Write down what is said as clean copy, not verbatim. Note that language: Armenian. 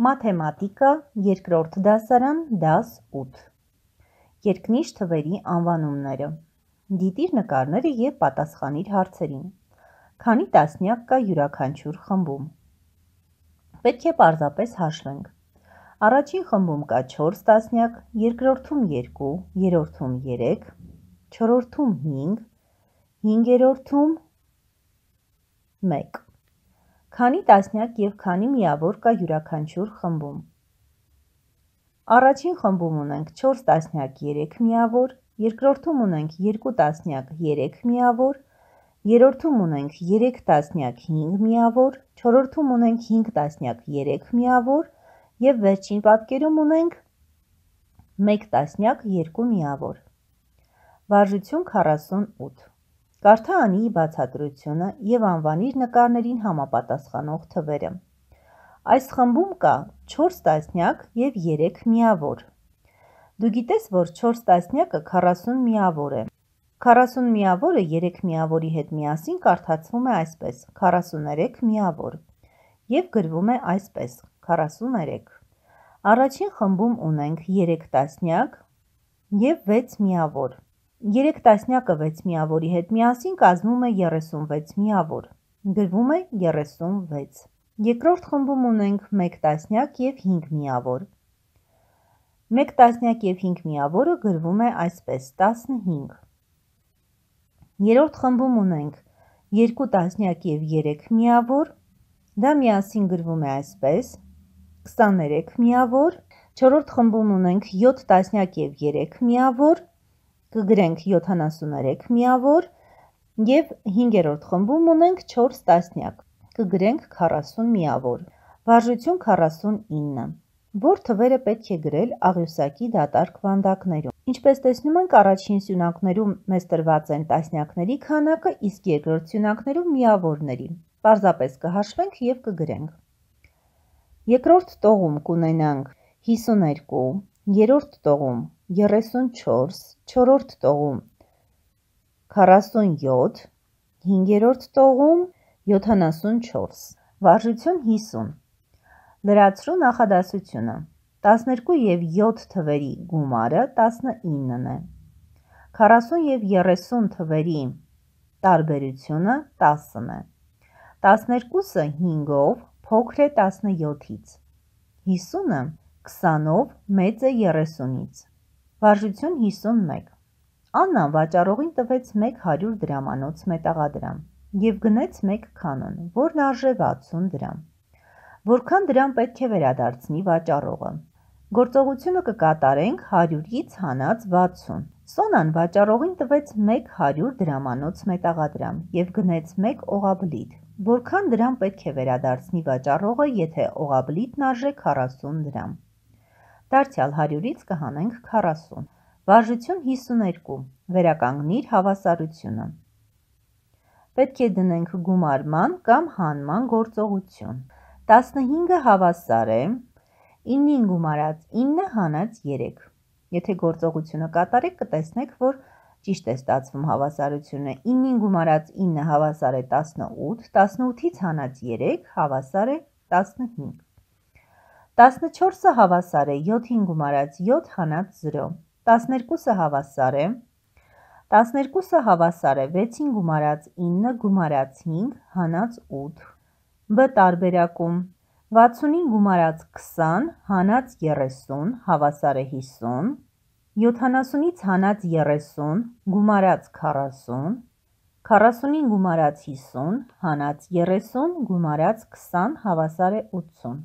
Մաթեմատիկա, երկրորդ դասարան, դաս 8 Երկնիշ թվերի անվանումները Դիտիր նկարները և պատասխանիր հարցերին Քանի տասնյակ կա յուրաքանչյուր խմբում Պետք է պարզապես հաշվենք Առաջին խմբում կա 4 տասնյակ, երկրորդում 2, երրորդում 3, չորրորդում 5, հինգերորդում 1 Քանի տասնյակ և քանի միավոր կա յուրաքանչյուր խմբում Առաջին խմբում ունենք 4 տասնյակ 3 միավոր, երկրորդում ունենք 2 տասնյակ 3 միավոր, երրորդում ունենք 3 տասնյակ 5 միավոր, չորրորդում ունենք 5 տասնյակ 3 միավոր և վերջին պատկերում ունենք 1 տասնյակ 2 միավոր։ Վարժություն 48 Կարդա Անիի բացատրությունը և անվանիր նկարներին համապատասխանող թվերը։ Այս խմբում կա 4 տասնյակ և 3 միավոր։ Դու գիտես, որ 4 տասնյակը 40 միավոր է։ 40 միավորը 3 միավորի հետ միասին կարդացվում է այսպես 43 միավոր և գրվում է այսպես 43։ Առաջին խմբում ունենք 3 տասնյակ և 6 միավոր։ 3 տասնյակը 6 միավորի հետ միասին կազմում է 36 միավոր, գրվում է 36։ Երկրորդ խմբում ունենք 1 տասնյակ և 5 միավոր։ 1 տասնյակ և 5 միավորը գրվում է այսպես 15։ Երրորդ խմբում ունենք 2 տասնյակ և 3 միավոր, դա միասին գրվում է այսպես 23 միավոր։ Չորրորդ խմբում ունենք 7 տասնյակ և 3 միավոր, կգրենք 73 միավոր և հինգերորդ խմբում ունենք 4 տասնյակ, կգրենք 40 միավոր։ Վարժություն 49 Որ թվերը պետք է գրել աղյուսակի դատարկ վանդակներում։ Ինչպես տեսնում ենք, առաջին սյունակներում մեզ տրված են տասնյակների քանակը, իսկ երկրորդ սյունակներում միավորների։ Պարզապես կհաշվենք և կգրենք։ Երկրորդ տողում կունենանք 52, երրորդ տողում 34, չորրորդ տողում 47, հինգերորդ տողում 74։ Վարժություն 50 Լրացրու նախադասությունը 12 և 7 թվերի գումարը 19-ն է 40 և 30 թվերի տարբերությունը 10-ն է 12-ը 5-ով փոքր է 17-ից 50-ը 20-ով մեծ է 30-ից Վարժություն 51 Աննան վաճառողին տվեց 100 դրամանոց մետաղադրամ և գնեց 1 քանոն, որն արժե 60 դրամ։ Որքան դրամ պետք է վերադարձնի վաճառողը։ Գործողությունը կկատարենք 100-ից հանած 60։ Սոնան վաճառողին տվեց 100 դրամանոց մետաղադրամ և գնեց 1 օղաբլիթ։ Որքան դրամ պետք է վերադարձնի վաճառողը, եթե օղաբլիթն արժե 40 դրամ։ Դարձյալ 100-ից կհանենք 40։ Վարժություն 52 Վերականգնիր հավասարությունը։ Պետք է դնենք գումարման կամ հանման գործողություն։ 15-ը հավասար է 9-ին գումարած 9 հանած 3։ Եթե գործողությունը կատարեք, կտեսնեք, որ ճիշտ է ստացվում հավասարությունը։ 9-ին գումարած 9 հավասար է 18, 18-ից հանած 3 հավասար է 15։ 14-ը հավասար է 7-ին գումարած 7 հանած 0, 12-ը հավասար է 6-ին գումարած 9 գումարած 5 հանած 8, B տարբերակում 60-ին գումարած 20 հանած 30 հավասար է 50, 70-ից հանած 30 գումարած 40, 40-ին գումարած 50 հանած 30 գումարած 20 հավասար է 80։